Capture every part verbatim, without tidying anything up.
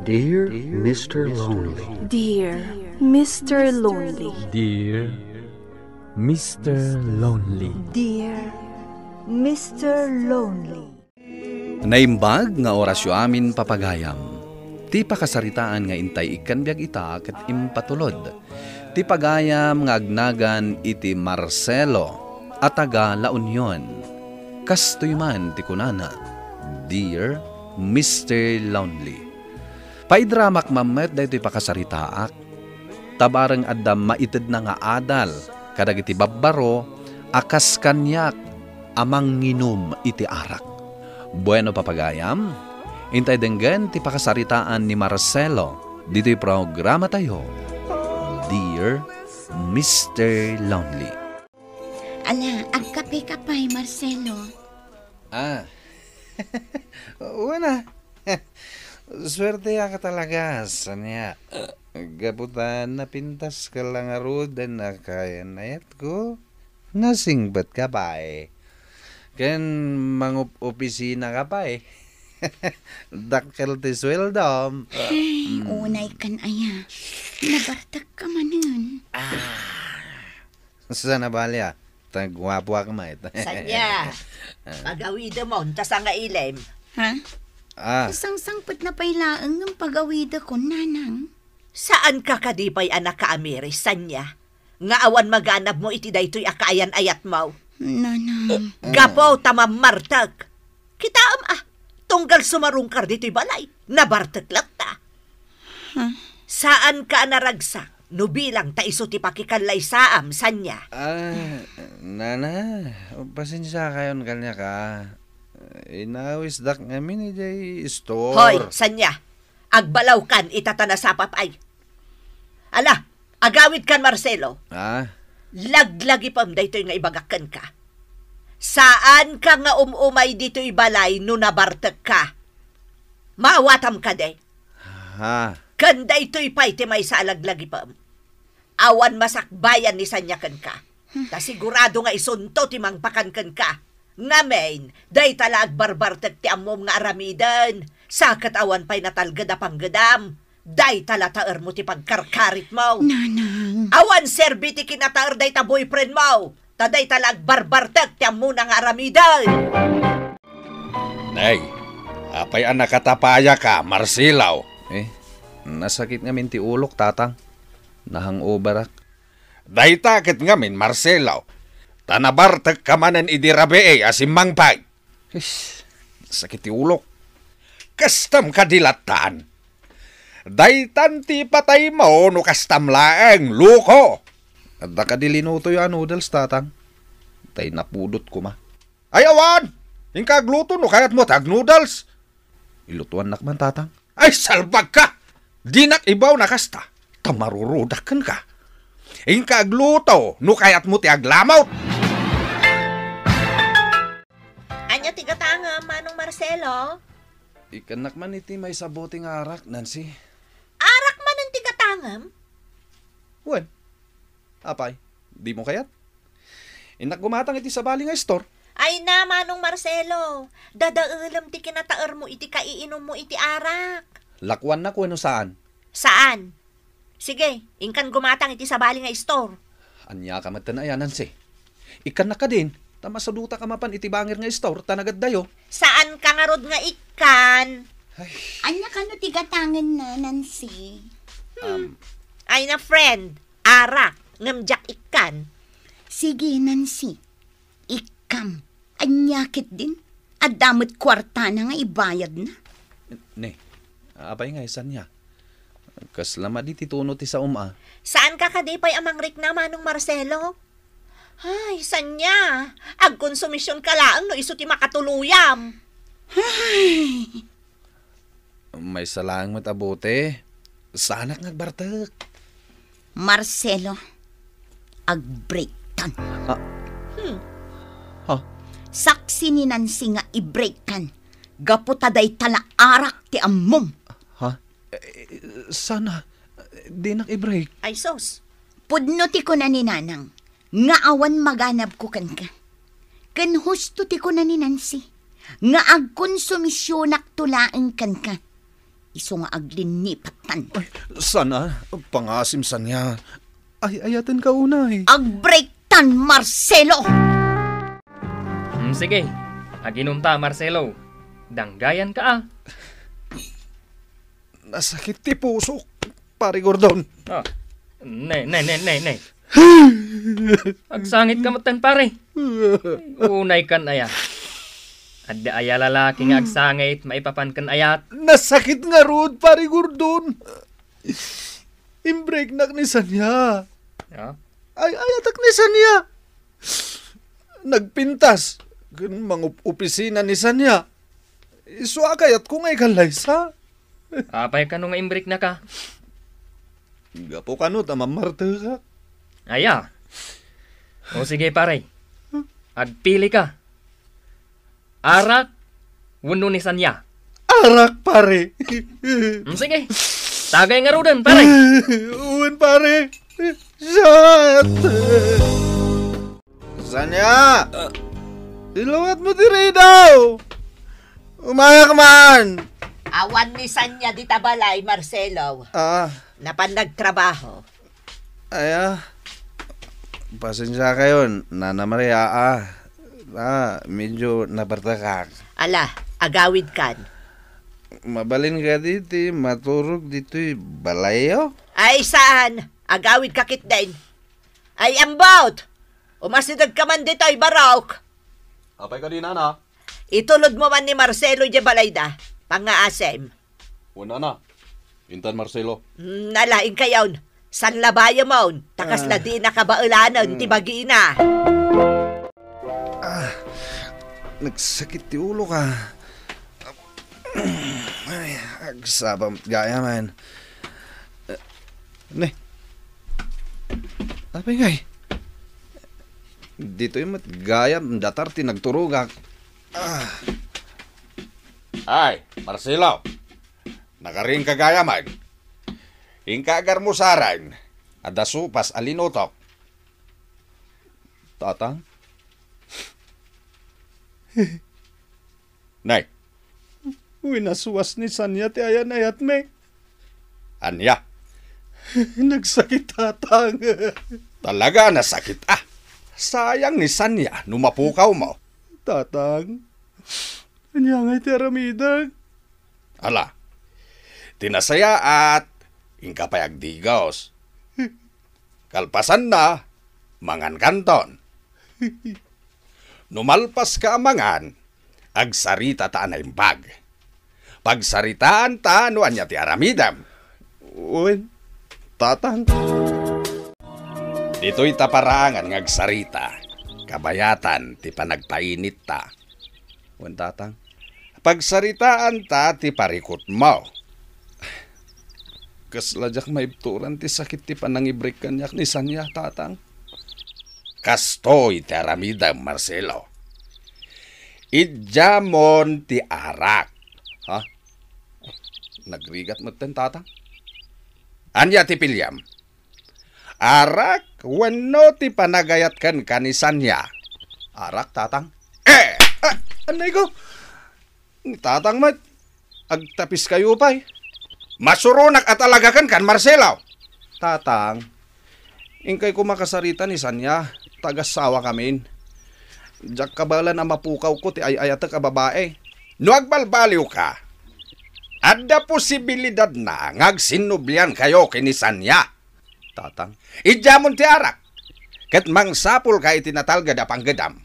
Dear Mister Lonely. Dear Mister Lonely. Dear Mister Lonely. Dear Mister Lonely. Naimbag nga orasyo amin, papagayam. Ti pakasaritaan nga intay ikkan biag ita ket impatulod ti pagayam nga agnagan iti Marcelo a taga La Union. Kastoy man ti kunana, "Dear Mister Lonely, paidramak man met daytoy pakasaritaak, ta bareng adda maitedna nga adal kadagiti babbaro a kas kaniak a manginum iti arak." Bueno, papagayam, intay denggen ti pakasaritaan ni Marcelo ditoy programatayo, Dear Mister Lonely. Ala, agkapeka pay, Marcelo. Ah. Wen a. Suerteak talaga, Sania. Gapu ta napintaska la ngaruden a kayan-ayatko, nasingpetka pay. Ken mangup-opisinaka pay. Dakkel ti sueldom. Ay, mm, unaykan aya. Nabartekka manen. Ah. Saan a bali a? Ta guapoak met. Sanya, ah, pagawidem ta sangailem. Ha? Ah. Sangsangpetna pay laeng ngem pagawidekon, nanang. Saanka kadi pay a nakaamiris, Sanya, nga awan maganabmo iti daytoy a kaayan-ayatmo? Nanang. Gapu ta mammartek. Kitaem a, tunggal sumarungkar ditoy balay, nabartek latta. Huh? Saanka a naragsak no bilang ta isu ti pakikallaysaam, Sanya. Ah, nana, pasensiakayon kaniak a. Inawisdak ngamin idiay istor. Hoy, Sanya, agbalawkan ita ta nasapa pay. Ala, agawidkan, Marcelo. Ah? Laglagipem daytoy nga ibagak kenka. Saanka nga um-umay ditoy balay no nabartekka. Maawatam kadi? Ha? Ken daytoy pay ti maysa a laglagipem. Awan masakbayan ni Sanya kenka. Ta sigurado nga isunto ti mangpakan kenka. Ngamin, dayta la agbarbartek ti ammom nga aramiden. Sa ket awan pay natalged a panggedam. Dayta la taermo ti pagkarkaritmo. Nanang. Awan serbi ti kinataer dayta boyfriendmo. Ta dayta la agbarbartek ti ammona nga aramiden. Nay, apay a nakatapayaka, Marcelo? Eh, nasakit ngamin ti ulok, tatang. Na-hangoverak. Dayta ket ngamin, Marcelo. Ta nabartekka manen idi rabii a simmangpet. Ish, sakit ti ulok. Kastam kadi lattan. Daytan ti pataymo no kastam laeng, loko. Adda kadi linutoyo a noodles, tatang? Tay napudot koma. Ay, awan! Inka agluto no kayatmo ti agnoodles. Ilutuannak man, tatang. Ay, salbagka! Dinak ibaw na kasta. Ta marurudak kenka. Inka agluto no kayatmo ti aglamot. Ania ti gatangem, Manong Marcelo? Ikkannak man iti maysa a bote nga arak, Nancy. Arak manen ti gatangem? Wen. Apay, dimo kayat? Innak gumatang iti sabali nga istor. Ay na, Manong Marcelo, dadaelem ti kinataermo iti kaiinummo iti arak. Lakuannak wenno saan? Saan? Sige, inkan gumatang iti sabali nga istor. Ania ka met ten aya, Nancy? Ikkannak kadin, ta masadutak a mapan iti bangir nga istor, ta nagaddayo. Saanka ngarud nga ikkan? Ay. Ania kano ti gatangenna, Nancy? Hmm. Um. Ay na, friend, arak, ngem diak ikkan. Sige, Nancy, ikkam. Ania ketdin? Adda met kuartana nga ibayadna. Ne, apay nga, Sanya? Kasla madi ti tuno ti saom a. Saanka kadi pay a mangrikna, Manong Marcelo? Ay, Sanya, agkonsumisionka laeng no isu ti makatuluyam. Ay. Maysa laeng met a bote. Saanak nga agbartek. Marcelo, agbreaktan. Ah. Hmm. Ha? Saksi ni Nancy nga ibreakkan. Gapu ta dayta la arak ti ammom. Ha? Eh, sana, dinak ibreak. Ay, sus. Pudno ti kuna ni Nanang nga awan maganabko kenka. Ken husto ti kuna ni Nancy nga agkonsumisionakto laeng kenka. Isu nga aglinnipattan. Ay, sana, pangasim sania. Ay, ayatenka unay. Agbreaktan, Marcelo! Mm, sige. Aginumta, Marcelo. Danggayanka, a. Nasakit ti pusok, Pare Gordon. Ah. Ne, ne, ne, ne, ne. Agsangitka metten, pare. Unay kan aya. Adda aya lalaki nga agsangit maipapan ken ayat. Nasakit ngarud, Pare Gordon. Imbreaknak ni sania. Ah? Ay, ayatek ni sania. Nagpintas ken mangup-opisina ni sania. Isu a kayatko nga ikallaysa. Apay kano nga imbreaknaka? Gapu kano ta mamartekak. Aya. O sige, pare. Agpilika. Arak wenno ni sania? Arak, pare. Mm, sige. Tagay ngaruden, pare. Wen, pare. Shot! Sania! Ah. Iluwatmo ti ridaw! Umayak man! Awan ni sania dita balay, Marcelo. Ah. Napan nagtrabaho. Aya, pasensiakayon, Nana Maria, a. A, medyo nabartekak. Ala, agawidkan. Mabalin kadi ti maturog ditoy balayyo? Ay, saan? Agawidka ketdin. Ay, ambot! Umasidegka man ditoy, Barok! Apay kadi, Nana? Itulodmo man ni Marcelo diay balayda. Pangngaasim. Wen, Nana. Intan, Marcelo. Mm, ala, inkayon. Sanlabayamon. Ta kasla, ah, di nakabaelanen ti, mm, bagina. Ah, nagsakit ti ulok, a. Ay, agsapa met gayam. Ne. Apay ngay? Ditoy met gayam datar ti nagturogak. Ah. Ay, Marcelo. Nakarinka gayam. Inka agarmusaren. Adda sopas a linutok. Tatang? Nay. Winaswas ni sania ti ayan-ayatmi. Ania? Nagsakit, Tatang. Talaga a nasakit, a. Sayang ni sania no mapukawmo. Tatang, ania ngay ti aramidek? Ala, ti nasayaat, inka pay agdigos. Kalpasanna, mangankanton. No malpaska a mangan, agsarita ta a naimbag. Pagsaritaanta no ania ti aramidem. Wen, Tatang. Ditoy ta paraangan nga agsarita, kabayatan ti panagpainitta. Wen, Tatang. Pagsaritaanta ti parikutmo. Kasla diak maibturan ti sakit ti panangibrik kaniak ni sania, Tatang. Kastoy ti aramidem, Marcelo. Idiamon ti arak. Ha? Nagrigat metten, Tatang. Ania ti piliam? Arak wenno ti panagayat kenka ni sania? Arak, Tatang. Eh! Ah, anay ko! Ni Tatang met, agtapiskayo pay. Masuronak a talaga kenka, Marcelo. Tatang, inkay koma kasarita ni sania, ta agassawakamin. Diak kabaelan a mapukawko ti ay-ayatek a babai. No agbalbaliwka, adda posibilidadna nga agsinnubliankayo ken ni sania. Tatang. Idiamon ti arak, ket mangsapulka iti natalged a panggedam.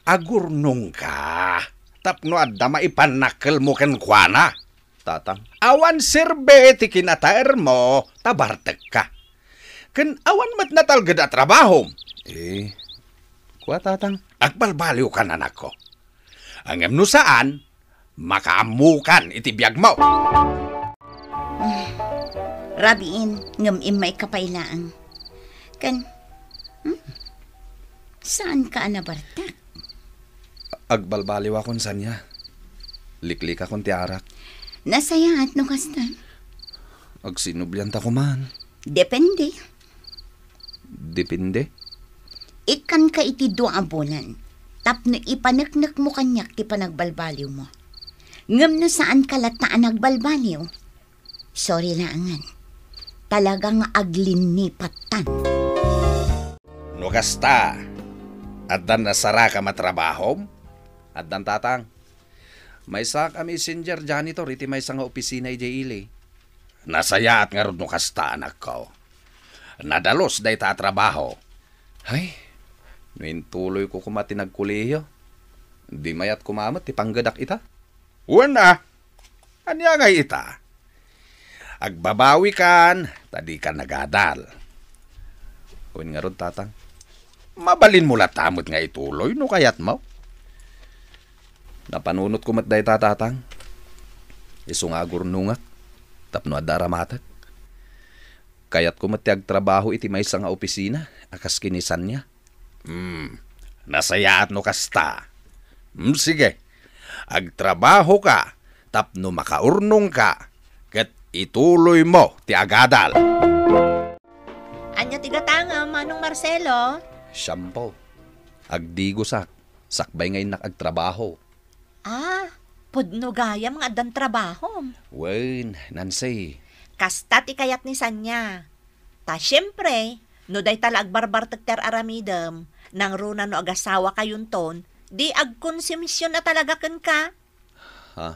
Agurnongka tapno adda maipannakkelmo kenkuana. Tatang. Awan serbi ti kinataermo ta bartekka. Ken awan met natalged a trabahom. Eh, kua, Tatang. Agbalbaliwkan, anakko. Ngem no saan, makaammokan iti biagmo. Ah, rabiin, ngem immayka pay laeng. Ken, hmm? Saanka a nabartek? Agbalbaliwakon sania. Liklikakon ti arak. Nasayaat no kasta. Agsinnublianta koman. Depende. Depende? Ikkanka iti dua a bulan tapno ipaneknekmo kaniak ti panagbalbaliwmo. Ngem no saanka latta a nagbalbaliw, sorry laengen. Talaga nga aglinnipattan. No kasta, addan nasarakam a trabahom? Addan, Tatang. Maysak a messenger janitor iti maysa nga opisina idiay ili. Nasayaat ngarud no kasta, anakko. Nadalus dayta a trabaho. Hay, no intuloyko koma ti nagkolehiyo, di mayat koma met ti panggedak ita. Wen a, ania ngay ita? Agbabawikan, ta dikan nagadal. Wen ngarud, Tatang. Mabalinmo latta met nga ituloy no kayatmo. Napanunotko met dayta, Tatang. Isu nga agurnongak tapno adda aramatek. Kayatko met ti agtrabaho iti maysa nga opisina a kas ken ni Sania. Hmm, nasayaat no kasta. Hmm, sige. Agtrabahoka tapno makaurnongka ket ituloymo ti agadal. Ania ti gatangem, Manong Marcelo? Shampoo. Agdigosak, sakbay nga innak agtrabaho. Ah, pudno gayam nga addan trabahom. Wen, Nancy. Kasta ti kayat ni Sania. Ta siempre, no dayta la agbarbartek ti ar-aramidem, nangruna no agasawakayonton, di agkonsumision a talaga kenka. Ha?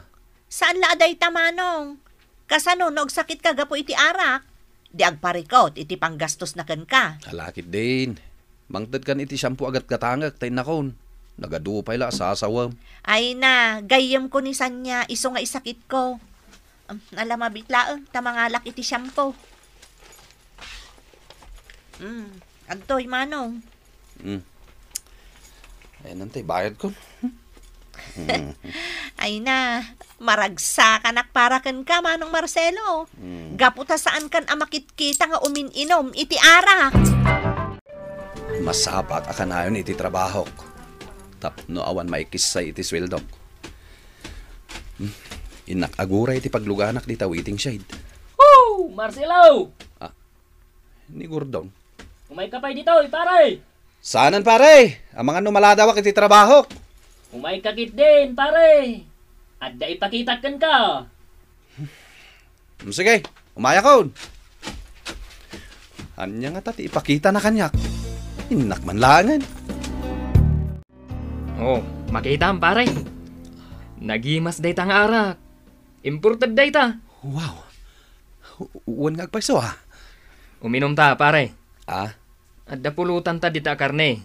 Saan la a dayta, Manong? Kasano no agsakitka gapu iti arak? Di agparikut iti panggastosna kenka. Ala ketdin. Mangtedkan iti shampoo a gatgatangek ta innakon. Nagadu pay la a sasawem. Ay na, gayyemko ni Sania, isu nga isakitko. Am, ala, mabiit laeng ta mangalak iti shampoo. Mm, adtoy, Manong. Mm. Ayan, antay, bayadko. Mm. Ay na, maragsakanak para kenka, Manong Marcelo. Mm. Gapu ta saankan a makitkita nga umin-inom iti arak. Masapulak a kanayon iti trabahok tapno awan maikissay iti sueldok. Hmm, innak aguray iti pagluganak dita waiting shed. Woo! Marcelo! Ah, ni Gordon. Umayka pay ditoy, pare! Saanen, pare? Amangan no maladawak iti trabahok. Umayka ketdin, pare! Adda ipakitak kenka. Hmm, sige, umayakon. Ania ngata ti ipakitana kaniak? Innak man laengen. Oh, makitam, pare. Nagimas dayta nga arak. Imported dayta. Wow. Wen nga agpayso, ah. Uminom ta, pare. Ah? Adda pulotanta dita a karne.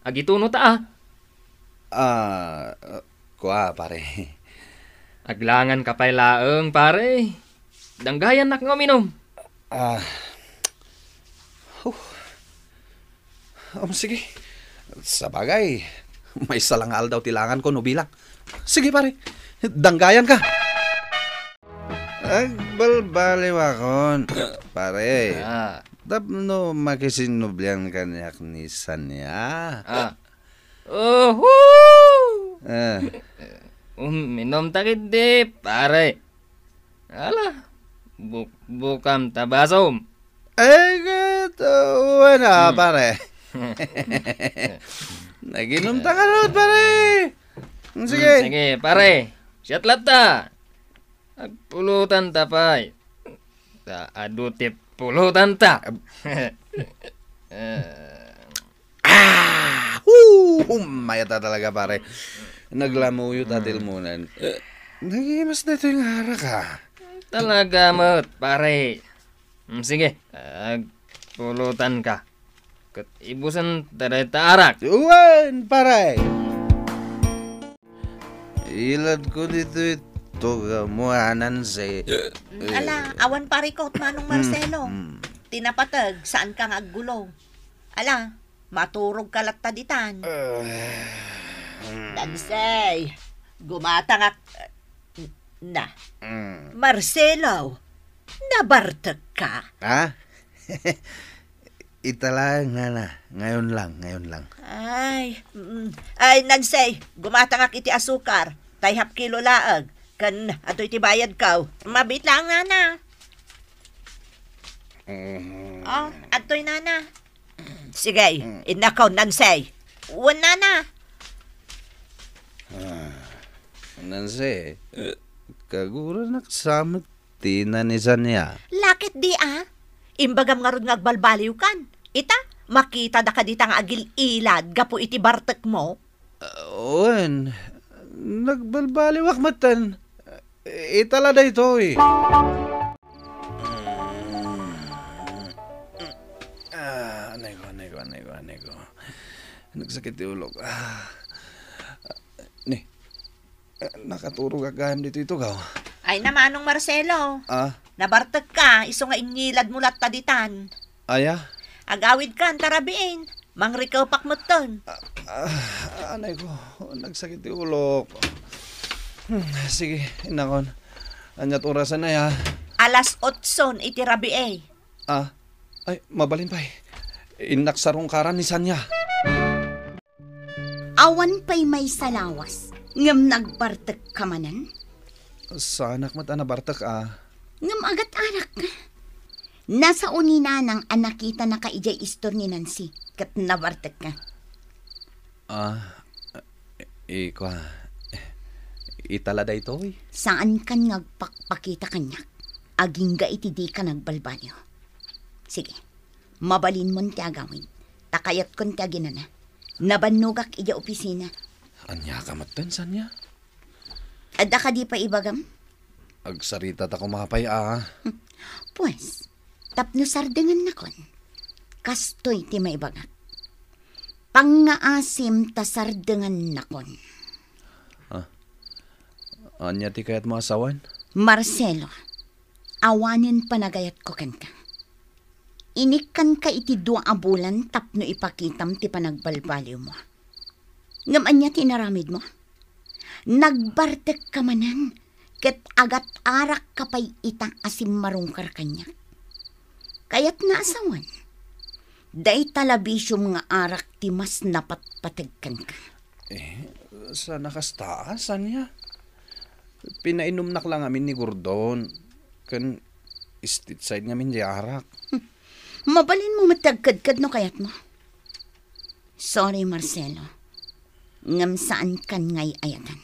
Agituno ta, ah. Ah, kua, pare. Aglangan ka pay laeng, pare. Danggayannak nga uminom. Ah. Huh. Um, sige. Sabagay, maysa lang nga aldaw ti langan ko no bilang. Sige, pare. Danggayan ka. Agbalbaliwakon, pare. Ah. Tapno makisinnublian kaniak ni Sania. Ah. Uhu! Ah. Uminom ta ketdi, pare. Ala, bukbukam ta basom. Ay, ket, uh, wala, hmm, pare. Naginom ta ngarud, pare. Sige. Hmm, sige, pare. Siat latta. Agpulutan ta pay. Ta adu ti pulutan ta. Ah! Hoo! Mayat a talaga, pare. Naglamuyo ta, hmm, tilmunan. Nagimas daytoy nga arak, ah. Talaga met, pare. Hmm, sige, agpulutan ka. Ket ibusen ta dayta arak. Wen, pare. Iladko ditoy tugamo, Nancy. Mm, ala, awan parikut, Manong Marcelo. Mm, mm. Ti napateg, saanka nga aggulo. Ala, maturogka latta ditan. Ah, mm. Nancy, gumatangak. Na. Mm. Marcelo, nabartekka? Ha? Ita laeng, nana. Ngayon lang, ngayon lang. Ay, mm. Ay, Nancy, gumatangak iti asukar. Tay half kilo laeng. Ken adtoy ti bayadko. Mabiit laeng, nana. Mm. Oh, adtoy, nana. Sige, mm, innakon, Nancy. Wen, nana. Ah. Nancy, kaguranak sa met ti nanisania. Lakit di a? Imbagam ngarud nga agbalbaliwkan. Ita, makita da kadita nga agil-ilad gapu iti bartek mo? Ah, wen, nagbalbaliwak metten. Ita la daytoy. Ah, anay ko, anay ko, anay ko, anay ko. Nagsakit ti ulok. Ah. Ni, eh, nakaturog gayam ditoy tugaw. Ay, namanong Marcelo. Ah? Nabartek ka, isu nga inyilad mo latta ditan. Aya? Agawid ka, anta rabiin. Mangrikepak metten. Ah, ah, anay ko, nagsakit ti ulok. Hmm, sige, innakon. Aniat orasen aya? Alas otson iti rabii. Ah, ay, mabalin pay. Innak sarungkaran ni Sania. Awan pay maysa lawas, ngem nagbartek ka manen? Saanak met a nabartek a. Ngem agat-arak ka. Nasao ni Nanang a nakitanaka idiay istor ni Nancy, ket nabartek ka. Ah, ikua, ita la daytoy? Saankan nga agpakpakita kaniak, agingga iti dika nagbalbaliw. Sige, mabalinmon ti agawid, ta kayatkon ti aginana. Nabannogak idiay opisina. Ania ka metten, Sania? Adda kadi pay ibagam? Agsarita ta koma pay a. Pues, tapno sardengannakon, kastoy ti maibagak. Pangngaasim ta sardengannakon. Ah. Ania ti kayatmo a sawen? Marcelo, awanen panagayatko kenka. Inikkanka iti dua a bulan tapno ipakitam ti panagbalbaliwmo. Ngem ania ti inaramidmo? Nagbartekka manen ket agat-arakka pay ita a simmarungkar kaniak. Kayatna a sawen, dayta la bisiom nga arak ti mas napatpateg kenka. Eh, sana kasta, Sania? Pinainumnak la ngamin ni Gordon, ken stateside ngamin di arak. Hmm. Mabalinmo met ti agkedked no kayatmo. Sorry, Marcelo. Ngem saankan nga ay-ayatan.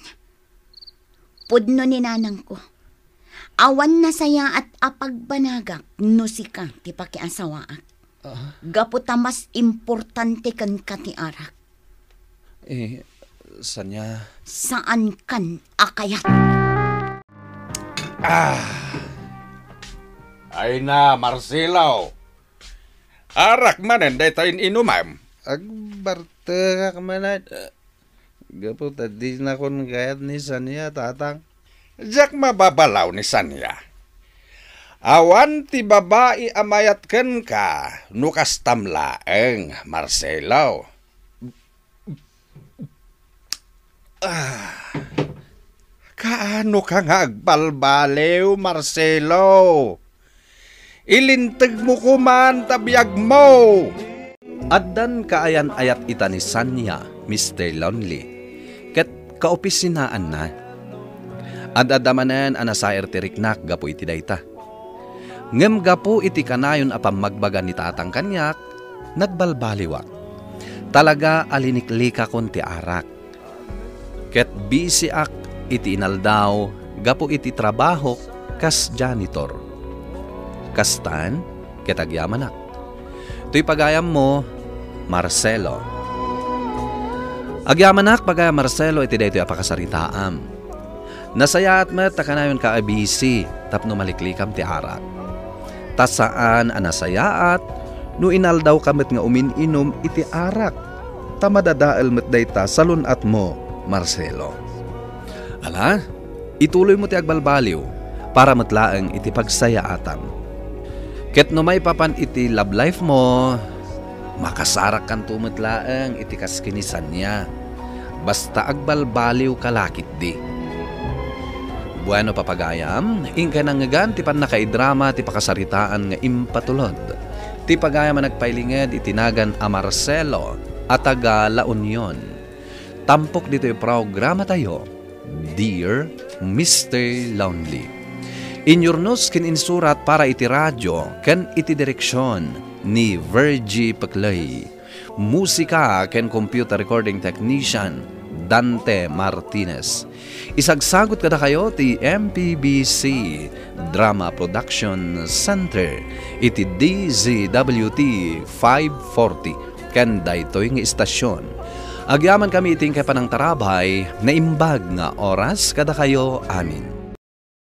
Pudno ni nanangko. Awan nasayaat a pagbanagak no sika ti pakiasawaak. Ah. Gapu ta mas importante kenka ti arak. Eh, Sania? Saankan a kayat. Ah! Ay na, Marcelo! Arak manen dayta in-inumem? Agbartekak manen. Gapu ta dinakon kayat ni Sania, Tatang. Diak mababalaw ni Sania. Awan ti babai a mayat kenka no kastam laeng, Marcelo. Ah. Kaano ka nga agbalbaliw, Marcelo? Ilintegmo koman ta biagmo! Addan kaayan-ayat ita ni Sania, Mister Lonely, ket kaopisinaanna. Ad-adda manen a nasair ti riknak gapu iti dayta. Ngem gapu iti kanayon a pammagbaga ni Tatang kaniak, nagbalbaliwak. Talaga a liniklikakon ti arak. Ket bisiak iti inaldaw gapu iti trabahok kas janitor. Kastan, ket agyamanak. Toy pagayammo, Marcelo. Agyamanak, pagayam Marcelo, iti daytoy a pakasaritaam. Nasayaat met ta kanayonka a bisi tapno maliklikam ti arak. Ta saan a nasayaat no inaldawka met nga umin-inum iti arak, ta madadael met dayta salun-atmo, Marcelo. Ala, ituloymo ti agbalbaliw para met laeng iti pagsayaatam. Ket no maipapan iti love life mo, makasarakkanto met laeng iti kas ken ni Sania. Basta agbalbaliwka la ketdi. Bueno, papagayam, inkay nangngegan ti pannakaidrama ti pakasaritaan nga impatulod ti pagayam a nagpailinged iti nagan a Marcelo a taga La Union. Tampok ditoy programatayo, Dear Mister Lonely. Inyurnos ken insurat para iti radio ken iti direksion ni Virgie Peclay. Musika ken computer recording technician, Dante Martinez. Isagsagut kadakayo ti M P B C Drama Production Center iti D Z W T five forty ken daytoy nga istasyon. Agyamankami iti inkay panangtarabay, naimbag nga oras kadakayo amin.